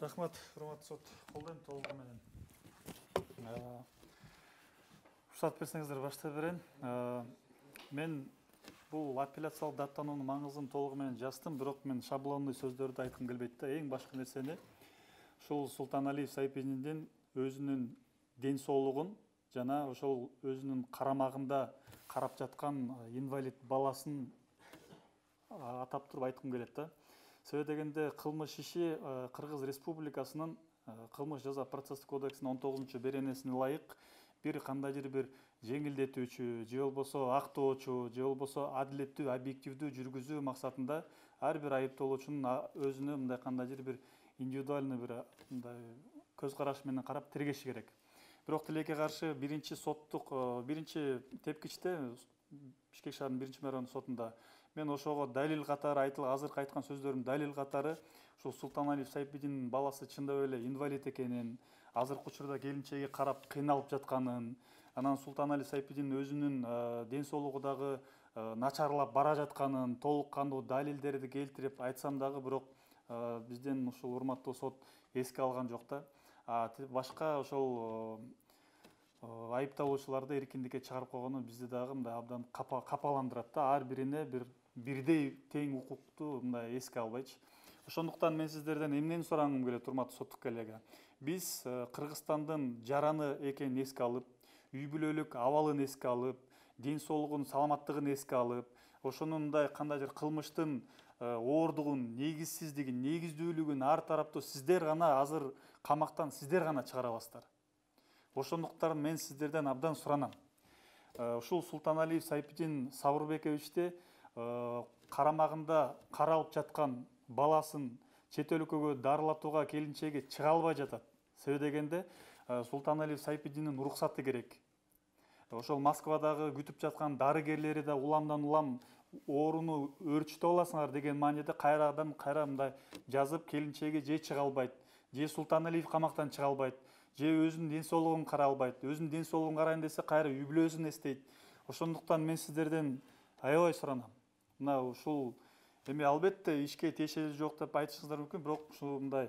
Рахмат, урматтуу сот. Колдойм толугу менен. Уруксат берсеңиздер баштай берейин. Мен бул апелляциялык даттануунун маңызын толугу менен жаздым, бирок мен шаблондуу сөздөрдү айткым келбейт да. Эң башкы нерсени ушул Султаналиев Сайпидиндин өзүнүн ден соолугун жана ошол өзүнүн карамагында карап жаткан инвалид баласын атап туруп айткым келет да. Себеби дегенде кылмыш иши Кыргыз Республикасынын кылмыш жаза процесстик кодексинин 19-беренесине ылайык бир кандайдыр бир жеңилдетүүчү, же болбосо актоочу, же болбосо адилеттүү, объективдүү жүргүзүү максатында ар бир айыпталуучунун өзүнө мындай кандайдыр бир индивидуальный бир мындай көз караш менен карап тергеши керек. Бирок тилекке каршы биринчи тепкичте Бишкек шаарынын биринчи райондук сотунда мен ошого далил катары азыркы айткан сөздөрүм далил катары ушул Султаналиев Сайпидиндин баласы чындап эле инвалид экенин, азыркы учурда келинчеги карап кыйналып жатканын, анан Султаналиев Сайпидин өзүнүн ден соолугу дагы начарлап бара жатканын толук кандуу далилдерди келтирип айтсам дагы, бирок бизден ушул урматтуу сот эске алган жок да. Башка ошол айыпталуучуларды эркиндикке чыгарып койгону бизди дагы мындай абдан капаландырат да. Ар бирине бирдей тең укукту мындай эске албайчы. Ошондуктан мен сиздерден эмнени сурагым келет, урматтуу соттук коллега. Биз Кыргызстандын жараны экенин эске алып, үй бүлөлүк абалын эске алып, ден соолугун, саламаттыгын эске алып, ошонун мындай кандайдыр кылмыштын оордугун, негизсиздигин, негиздүүлүгүн ар тараптуу сиздер гана азыр камактан сиздер гана чыгара аласыздар. Ошондуктан мен сиздерден абдан суранам. Ушул Султаналиев Сайпидин Сабырбековичти карамагында каралып жаткан баласын чет өлкөгө дарылатууга келинчеги чыга албай жатат. Себеби дегенде Султаналиев Сайпидиндин уруксаты керек. Ошол Москвадагы күтүп жаткан дарыгерлери да уламдан улам ооруну өөрчүтүп аласыңар деген мааниде кайрадан мындай жазып, келинчеги же чыга албайт, же Султаналиев камактан чыга албайт, же өзүнүн ден соолугун карай албайт. Өзүнүн ден соолугун карайын десе кайра үй бүлөсүн эстейт. Ошондуктан мен сиздерден аябай суранам. Мына ушул эми албетте ишке тиешеси жок деп айтышыңыздар мүмкүн, бирок ушул мындай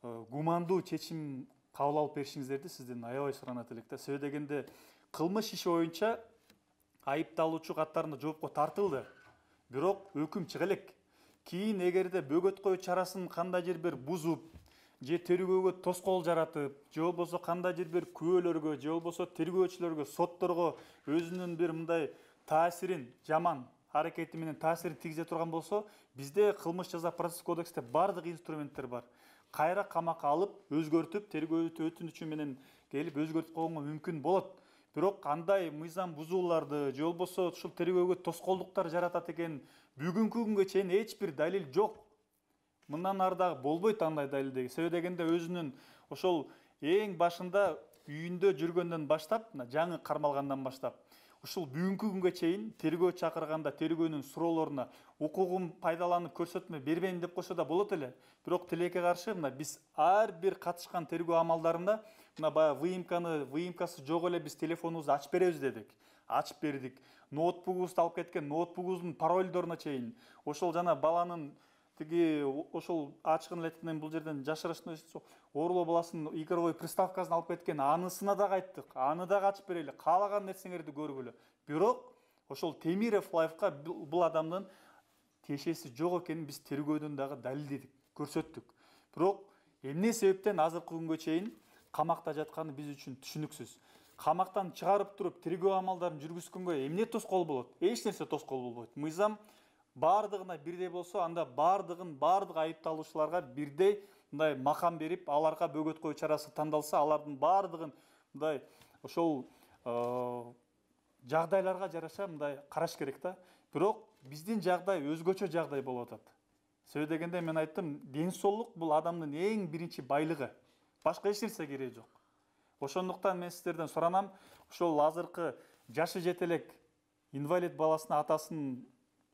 гумандуу чечим кабыл алып беришиңиздерди сизден аябай суранат элек да. Себеби дегенде кылмыш иши боюнча айыпталуучу катарында жоопко тартылды, бирок өкүм чыга элек. Кийин эгерде бөгөткөө чарасын кандайдыр бир бузуп, же тергөөгө тоскоол жаратып, же болбосо кандайдыр бир күбөлөргө, же болбосо тергөөчүлөргө, сотторго өзүнүн бир мындай таасирин, жаман аракети менен таасирин тийгизе турган болсо, бизде кылмыш жаза процесстик кодексте бардык инструменттер бар. Кайра камакка алып, өзгөртүп, тергөө өтүнүчү менен келип өзгөртүп койгонго мүмкүн болот. Бирок кандай мыйзам бузууларды, же болбосо ушул тергөөгө тоскоолдуктар жаратат экен, бүгүнкү күнгө чейин эч бир далил жок. Мындан ары дагы болбойт андай далилдеги. Себеби дегенде өзүнүн ошол эң башында үйүндө жүргөндөн баштап, жаңы кармалгандан баштап, ушул бүгүнкү күнгө чейин тергөө чакырганда тергөөнүн суроолоруна укугун пайдаланып көрсөтмө бербейм деп койсо да болот эле. Бирок тилекке каршы биз ар бир катышкан тергөө амалдарында баягы выемкасы жок эле биз телефонубузду ачып беребиз дедик. Ачып бердик. Ноутбугубузду алып кеткен, ноутбугубуздун паролдоруна чейин, ошол жана баланын ошол ачыгын эле бул жерден жашырышын оорлоо баласынын игровой приставкасын алып кеткен, анысына дагы айттык. Аны дагы ачып берели, каалаган нерсеңерди көргүлө. Бирок ошол Темиров Лайфка бул адамдын тиешеси жок экенин биз тергөөдөн дагы далилдедик, көрсөттүк. Бирок эмне себептен азыркы күнгө чейин камакта жатканы биз үчүн түшүнүксүз. Камактан чыгарып туруп тергөө амалдарын жүргүзгөнгө эмне тоскоол болот? Эч нерсе тоскоол болбойт. Мыйзам бардыгына бирдей болсо, анда бардык айыпталуучуларга бирдей мындай макам берип, аларга бөгөткөө чарасы тандалса, алардын бардыгын мындай ошол жагдайларга жараша мындай караш керек да. Бирок биздин жагдай өзгөчө жагдай болуп атат. Себеби дегенде мен айттым, ден соолук бул адамдын эң биринчи байлыгы. Башка эч нерсе кереги жок. Ошондуктан мен сиздерден суранам, ошол азыркы жашы жете элек инвалид баласына атасынын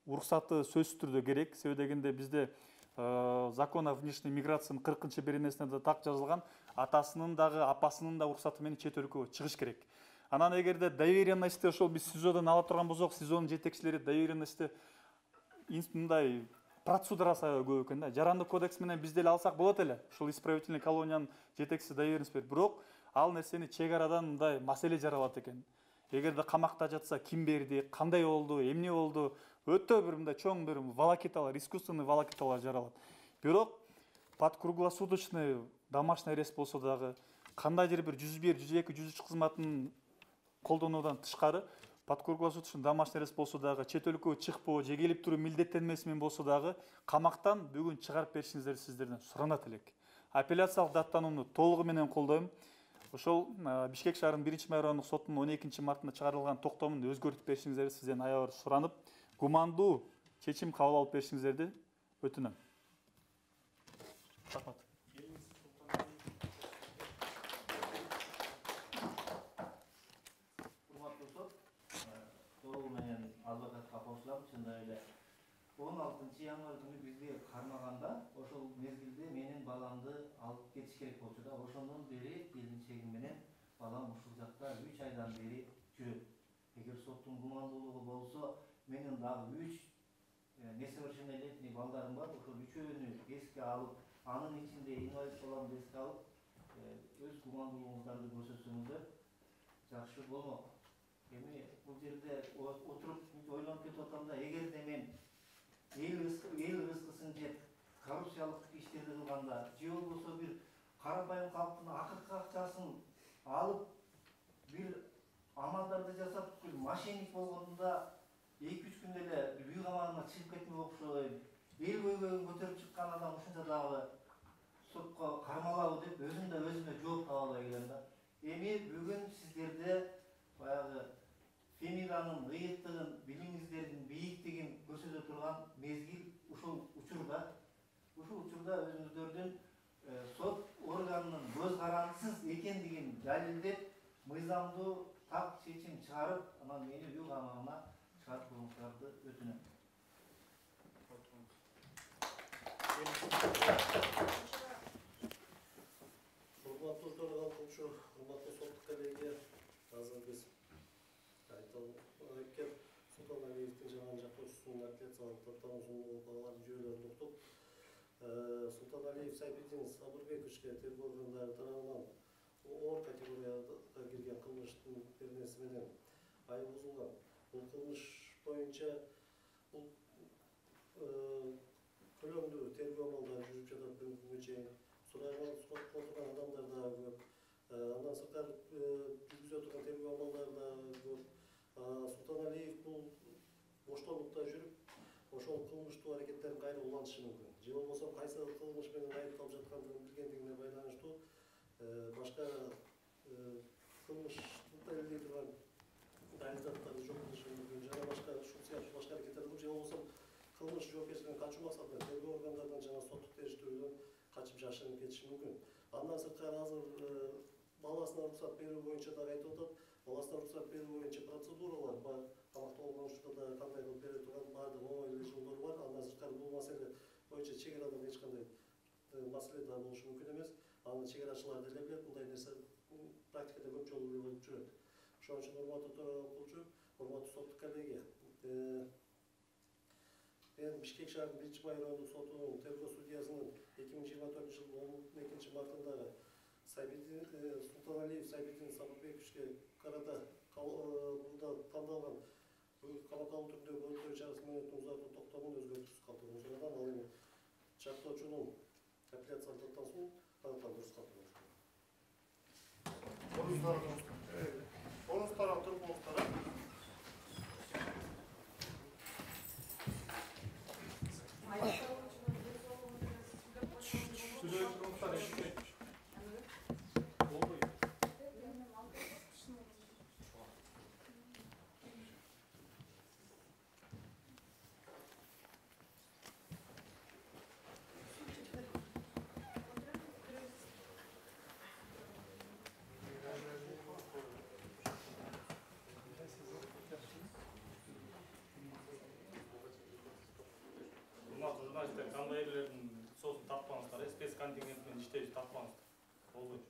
уруксаты сөзсүз түрдө керек. Себеби дегенде бизде закон о внешней миграциянын 40-беренесине да так жазылган, атасынын дагы апасынын да уруксаты менен чет өлкөгө чыгыш керек. Анан эгерде доверенностьти ошол биз СИЗОдон ала турган болсок, СИЗОнун жетекчилери доверенностьти мындай процедурасы аябай көп экен да. Жарандык кодекс менен биз деле алсак болот эле. Ушул исправительный колониянын жетекчиси доверенность берип, бирок ал нерсени чек арадан мындай маселе жаралат экен. Эгерде камакта жатса ким берди, кандай болду, эмне болду, өтө бир мындай чоң бир волокиталар, искусственный волокиталар жаралат. Бирок под круглосуточный домашний арест болсо дагы, кандайдыр бир 101, 102, 103 кызматын колдонуудан тышкары под круглосуточный домашний арест болсо дагы, чет өлкөгө чыкпоо же келип туруу милдеттенмеси менен болсо дагы камактан бүгүн чыгарып беришиңиздерди сиздерден суранат элек. Апелляциялык даттанууну толугу менен колдойм. Ошол Бишкек шаарынын 1-май райондук сотунун 12 мартында чыгарылган токтомун өзгөртүп беришиңиздерди сизден аябай суранып, гумандуу чечим кабыл алып беришиңиздерди өтүнөм. Рахмат. Урматтуу сот, толугу менен адвокатка кошулам, чындап эле 16-январь күнү бизге кармаганда ошол мезгилде менин баламды алып кетиш керек болчу да. Ошондон бери келинчегим менен балам ушул жакта 3 айдан бери жүрөт. Эгер соттун гумандуулугу болсо, менин дагы 3 несовершеннолетний балдарым бар. Ошол үчөөнү эске алып, анын ичинде инвалид баламды эске алып, өз гумандуулугуңуздарды көрсөтсөңүздөр жакшы болмок. Эми бул жерде отуруп ойлонуп кетип атам да, эгерде мен эл рызкысын жеп коррупциялык иштерди кылганда, же болбосо бир карапайым калктын акыркы акчасын алып, бир амалдарды жасап, бир мошенник болгондо 2-3 күндө эле үй камагына чыгып кетмек окшойм. Эл көйгөйүн көтөрүп чыккан адам ушунча дагы сотко кармалабы деп өзүм да өзүмө жооп таба албай келем да. Эми бүгүн сиздерде баягы фемиданын ыйыктыгын, билимиңиздердин бийиктигин көрсөтө турган мезгил ушул учурда. Ушул учурда өзүңүздөрдүн сот органынын көз карандысыз экендигин далилдеп, мыйзамдуу так чечим чыгарып, анан мени үй камагына чыгарып коюңуздарды өтүнөм. Урматтуу төрагалчы, урматтуу соттук коллегия, азыр биз айткен Султаналиевдин жаган жактоочусунун апелляциялык даттануусунун балаларын жүйөлөрүн уктуп, Султаналиев Сайбидин Сабырбековичке тергөө органдары тарабынан оор категорияга кирген кылмыштын беренеси менен айып бузулган. Бул кылмыш боюнча бул көлөмдүү тергөө амалдары жүрүп жатат бүгүнкү чейин. Сурайланып отурган адамдар да көп. Андан сырткары жүргүзүп турган тергөө амалдары да көп. Султаналиев бул боштондукта жүрүп, ошол кылмыштуу аракеттерин кайра улантышы мүмкүн. Же болбосо кайсы кылмыш менен айыпталып жаткандыгын билгендигине байланыштуу башка кылмыштык далилдей турган далил-заттарды жок кылышы мүмкүн. Жана башка ушул сыяктуу башка аракеттер кылып, же болбосо кылмыш жоопкерчилигин качуу максатында тергөө органдарынан жана соттук териштирүүдөн качып жашынып кетиши мүмкүн. Андан сырткары азыр баласына уруксат берүү боюнча дагы айтып атат. Баласына уруксат берүү боюнча процедуралар бар. Камакта болгон учурда да кандай кылып бере турган баардык оңой эле жолдору бар. Андан сырткары бул маселе боюнча чек арадан эч кандай маселе да болушу мүмкүн эмес. Аны чек арачылар деле билет, мындай нерсе практикада көп жолу эле болуп жүрөт. Ошон үчүн урматтуу төрагалчы, урматтуу соттук коллегия, мен Бишкек шаарынын 1-май райондук сотунун тергөө судьясынын 2024 жылдын 12 мартындагы Султаналиев Сайбидин Сабырбековичке карата burada тандалган камакка алуу түрүндөгү өлтүрүү чарасы менен узартуу токтомун өзгөртүүсүз калтыруу сурадан, ал эми жактоочунун апелляциялык даттануусун аныктандырууусуз калтыруу. Орунуздарға тұрыңыздар. Журналисттер кандай элердин соосун таппаңыздар, спец контингент менен иштеп таппаңыздар. Болбойт.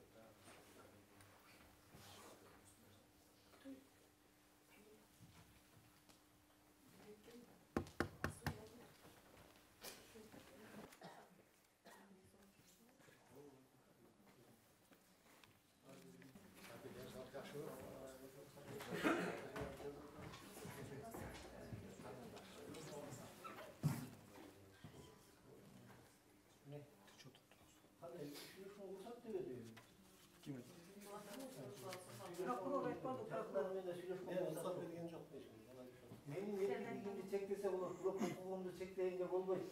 уруксат дебеди. Ким? Прокурор айтпады, прокурор менен сүйлөшкөн уруксат берген жок дейшин. Менин эркиндигимди чектесе болот, бирок укугумду чектегенге болбойт.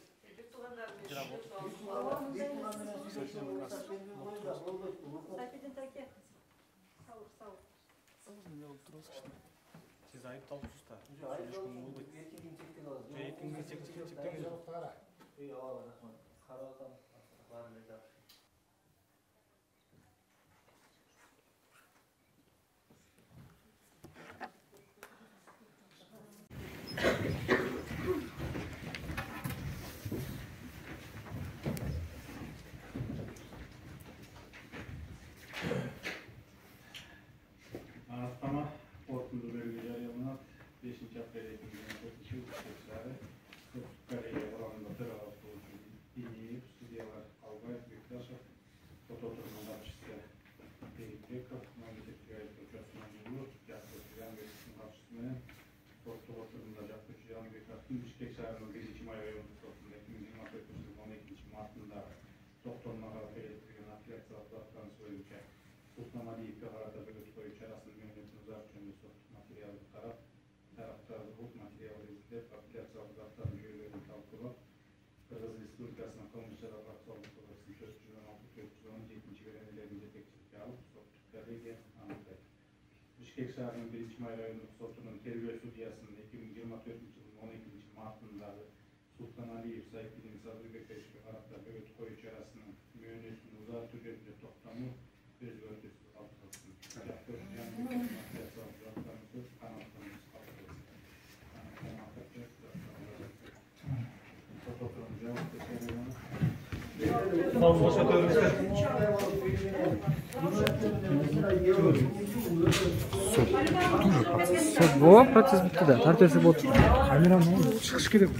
Сиз айыпталуусуз да. Сүйлөшкөнгө болбойт. Эркиндигин чектеген жок. Ооба, рахмат. Карап атам. Баары эле жакшы. Anlattama korkundu bölge jarıyalanat 5. aprel 2024 yıl işçileri Kırıkkale'ye oranında tırağıp oluşu İyi, Studiyalar Albay, Bektaşov, Fototurman Kapçısı Deyip Bekov, Memleketli Gayet Hocası'nın yolu, Yaklaşık Yan Bektaş'ın kapçısının Sportu oturumunda Yaklaşık Yan Bektaş'ın Bişkek şehrinin 1. May ayı ortasında 2024 yılının 12. Mart'ında doktorlara belirtilen afiliyatsiyalı atlarını söyleyince Sultan Aliyev'e kararda bölük koyu çarasının yönetim uzarçönü materyali taraf, taraftarı bu materyali izleyip afiliyatsiyalı atların üyelerini talkılayıp Kırgız Respublikası'nın Kılmışlar Aksallık Odası'nın 416-417. verenlerinin yetekçilik alıp Türkiye'ye anlatıyor. Bişkek şehrinin 1. May rayonluk sotunun terbiye sudiyasının 2024 yılının 12. Mart'ındağı Sultan Aliyev sahipinin Sadrıbek Beşik'e kararda bölük koyu çarasının yönetim uzarçönü toplamı özgürlüğü altısın. Yaktır yanı afiliyatsiyalı atlarını kanatlarımız kalkıyoruz. Процесс бітті да, тартесі болды. Камераның шығыш керек.